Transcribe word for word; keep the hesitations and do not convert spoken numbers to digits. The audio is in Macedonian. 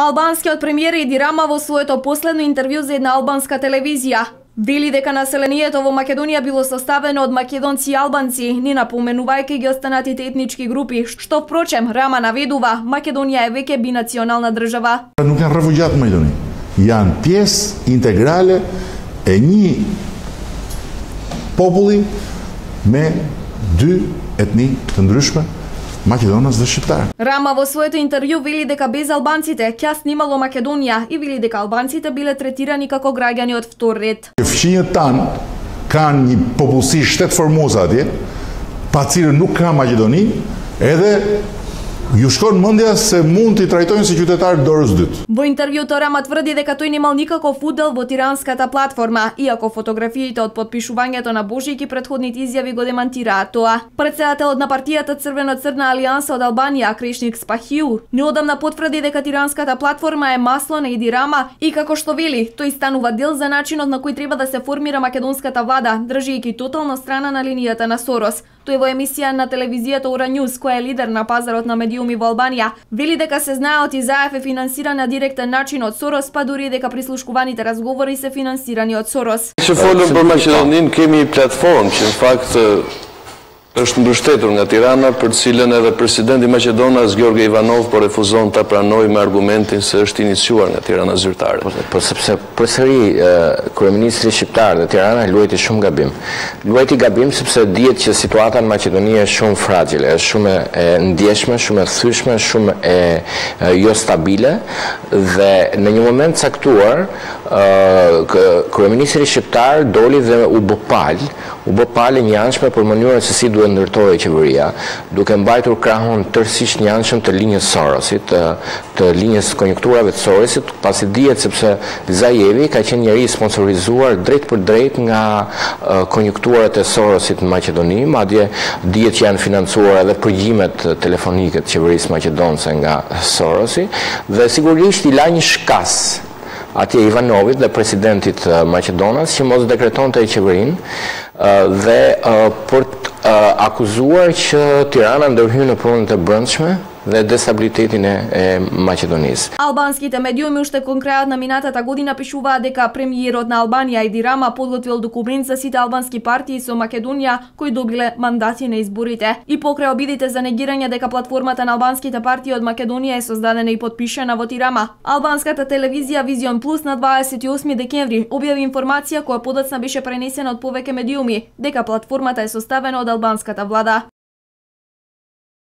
Албанскиот премиер Еди Рама во своето последно интервју за една албанска телевизија вели дека населението во Македонија било составено од македонци и албанци, не напоменувајќи ги останатите етнички групи, што впрочем Рама наведува Македонија е веќе бинационална држава. Nuk janë refugjat në Maqedoni, janë pjesë integrale e një populli me dy etni të ndryshme, Македонец dhe Shqiptar. Рама во своето интервју вели дека без албанците ќе снимало Македонија и вели дека албанците биле третирани како граѓани од втор ред. Fqinjët tanë kanë një popullsi shtetëformuese atje, pa cilën nuk ka Maqedoni, edhe ju shkon mendja se mund t'i trajtojnë si qytetar dorës dytë. Во интервјуто Рама тврди дека тој немал никаков удел во тиранската платформа, иако фотографиите од потпишувањето на Божики претходните изјави го демантираат тоа. Претседателот на партијата Црвено-црна алијанса од Албанија, Кришник Спахиу, неодамна потврди дека тиранската платформа е масло на Еди Рама и како што вели, тој станува дел за начинот на кој треба да се формира македонската влада, држејќи тотално страна на линијата на Сорос. Тој во емисија на телевизијата Ора Ньюс, која е лидер на пазарот на медиуми во Албанија, вели дека се знае од Изаев е финансиран на директен начин од Сорос, па дури дека прислушкуваните разговори се финансирани од Сорос. Që folëm për Maqedoninë, kemi platformë që në fakt është mbështetur nga Tirana, për cilën edhe presidenti i Maqedonas Gjorge Ivanov po refuzon ta pranojë me argumentin se është iniciuar nga Tirana zyrtare. Po, po sepse përsëri kryeministri shqiptar dhe Tirana luajti shumë gabim. Luajti gabim sepse dihet që situata në Maqedoni është shumë fragjile, është shumë e ndjeshme, shumë e thyeshme, shumë e, e jo stabile dhe në një moment caktuar kryeministri shqiptar doli dhe u bë pal, u bë pal e njanshme për mënyrën se si duhet ndërtohej qeveria, duke mbajtur krahun tërësisht njanshëm të linjës Sorosit, të, të linjës konjunkturave të Sorosit, pasi dihet sepse Zajevi ka qenë njëri sponsorizuar drejt për drejt nga uh, konjunkturat e Sorosit në Maqedoni, madje dihet që janë financuar edhe përgjimet telefonike të qeverisë maqedonse nga Sorosi, dhe sigurisht i la një shkas atje Ivanovit dhe presidentit Maqedonas që mos dekretonte qeverinë dhe për të akuzuar që Tirana ndërhyn në punët e brendshme dhe destabilitetin e, e Maqedonisë. Албанските медиуми уште кон крајот на минатата година пишуваат дека премиерот на Албанија Еди Рама подготвил документ за сите албански партии со Македонија кои добиле мандати на изборите. И покрај обидите за негирање дека платформата на албанските партии од Македонија е создадена и подпишана во Тирама, албанската телевизија Визион Плюс на дваесет и осми декември објави информација која подоцна беше пренесена од повеќе медиуми дека платформата е составена од албанската влада.